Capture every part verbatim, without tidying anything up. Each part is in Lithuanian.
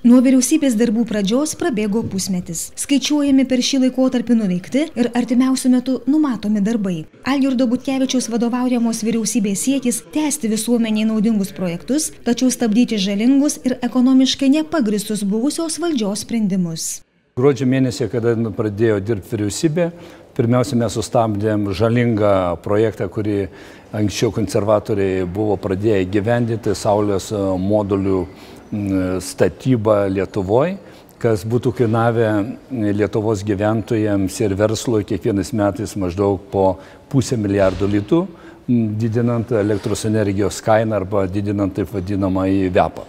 Nuo vyriausybės darbų pradžios prabėgo pusmetis. Skaičiuojami per šį laikotarpį nuveikti ir artimiausiu metu numatomi darbai. Algirdo Butkevičiaus vadovaujamos vyriausybės siekis tęsti visuomeniai naudingus projektus, tačiau stabdyti žalingus ir ekonomiškai nepagristus buvusios valdžios sprendimus. Gruodžio mėnesį, kada pradėjo dirbti vyriausybė, pirmiausia, mes sustabdėm žalingą projektą, kurį anksčiau konservatoriai buvo pradėję įgyvendinti, saulės modulių statybą Lietuvoje, kas būtų kainavę Lietuvos gyventojams ir verslui kiekvienais metais maždaug po pusę milijardo litų, didinant elektros energijos kainą arba didinant taip vadinamą į vepą.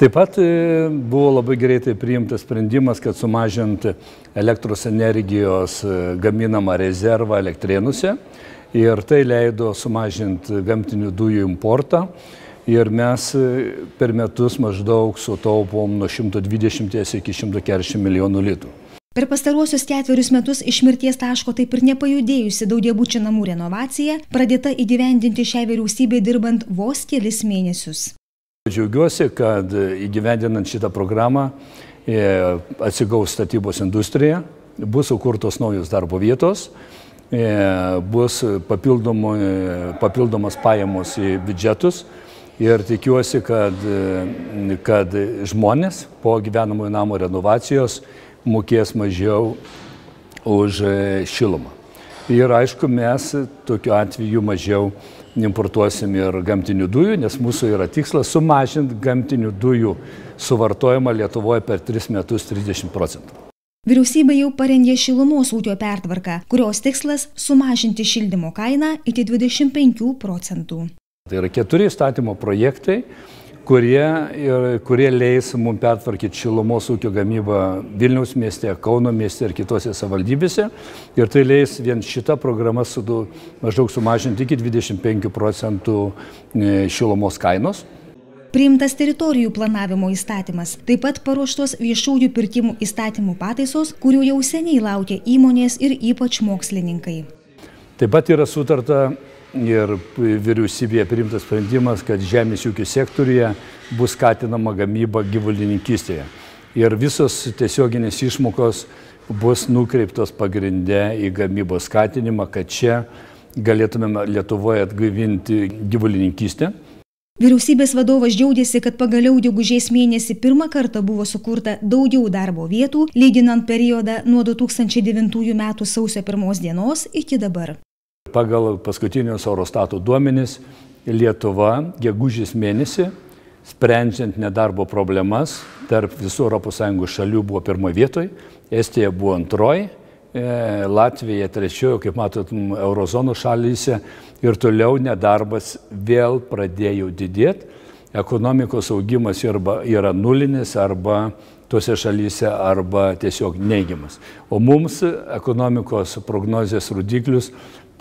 Taip pat buvo labai greitai priimtas sprendimas, kad sumažint elektros energijos gaminamą rezervą elektrėnuose ir tai leido sumažinti gamtinių dujų importą. Ir mes per metus maždaug sutaupom nuo šimto dvidešimties iki šimto keturiasdešimt milijonų litų. Per pastaruosius ketverius metus iš mirties taško taip ir nepajudėjusi daugiabučių namų renovacija pradėta įgyvendinti šiai vyriausybei dirbant vos kelis mėnesius. Džiaugiuosi, kad įgyvendinant šitą programą atsigaus statybos industrija, bus sukurtos naujos darbo vietos, bus papildomos pajamos į biudžetus. Ir tikiuosi, kad, kad žmonės po gyvenamųjų namų renovacijos mokės mažiau už šilumą. Ir aišku, mes tokiu atveju mažiau importuosim ir gamtinių dujų, nes mūsų yra tikslas sumažinti gamtinių dujų suvartojimą Lietuvoje per tris metus trisdešimt procentų. Vyriausybė jau parengė šilumos ūkio pertvarką, kurios tikslas sumažinti šildymo kainą iki dvidešimt penkių procentų. Tai yra keturi įstatymo projektai, kurie, kurie leis mums pertvarkyti šilumos ūkio gamybą Vilniaus mieste, Kauno mieste ir kitose savivaldybėse. Ir tai leis vien šitą programą su, maždaug sumažinti iki dvidešimt penkių procentų šilumos kainos. Priimtas teritorijų planavimo įstatymas, taip pat paruoštos viešųjų pirkimų įstatymų pataisos, kurių jau seniai laukia įmonės ir ypač mokslininkai. Taip pat yra sutarta ir vyriausybėje priimtas sprendimas, kad žemės ūkio sektoriuje bus skatinama gamyba gyvulininkystėje. Ir visos tiesioginės išmokos bus nukreiptos pagrinde į gamybos skatinimą, kad čia galėtumėme Lietuvoje atgaivinti gyvulininkystę. Vyriausybės vadovas džiaugiasi, kad pagaliau gegužės mėnesį pirmą kartą buvo sukurta daugiau darbo vietų, lyginant periodą nuo du tūkstančiai devintųjų metų sausio pirmos dienos iki dabar. Pagal paskutinius Eurostato duomenis, Lietuva gegužės mėnesį, sprendžiant nedarbo problemas, tarp visų Europos Sąjungos šalių buvo pirmoje vietoje, Estija buvo antroji, Latvija trečioji, kaip matot, eurozono šalyse ir toliau nedarbas vėl pradėjo didėti. Ekonomikos augimas yra nulinis arba tose šalyse arba tiesiog neigiamas. O mums ekonomikos prognozės rodiklius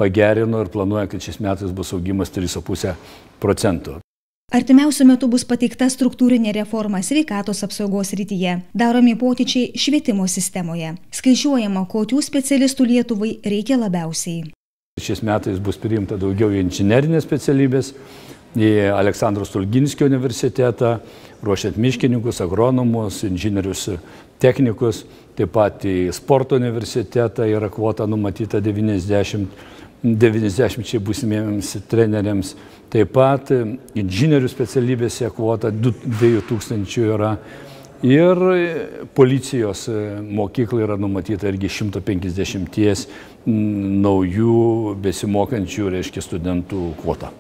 pagerino ir planuoja, kad šis metais bus augimas trys ir pusė procento. Artimiausiu metu bus pateikta struktūrinė reforma sveikatos apsaugos srityje, daromi pokyčiai švietimo sistemoje. Skaičiuojama, kokių specialistų Lietuvai reikia labiausiai. Šiais metais bus priimta daugiau į inžinerinės specialybės, į Aleksandro Stulginskio universitetą, ruošiant miškininkus, agronomus, inžinierius, technikus, taip pat į sporto universitetą yra kvota numatyta devyniasdešimt devyniasdešimčiai būsimiems treneriams. Taip pat inžinierių specialybėse kvota dviejų tūkstančių yra ir policijos mokyklai yra numatyta irgi šimto penkiasdešimties naujų besimokančių, reiškia, studentų kvota.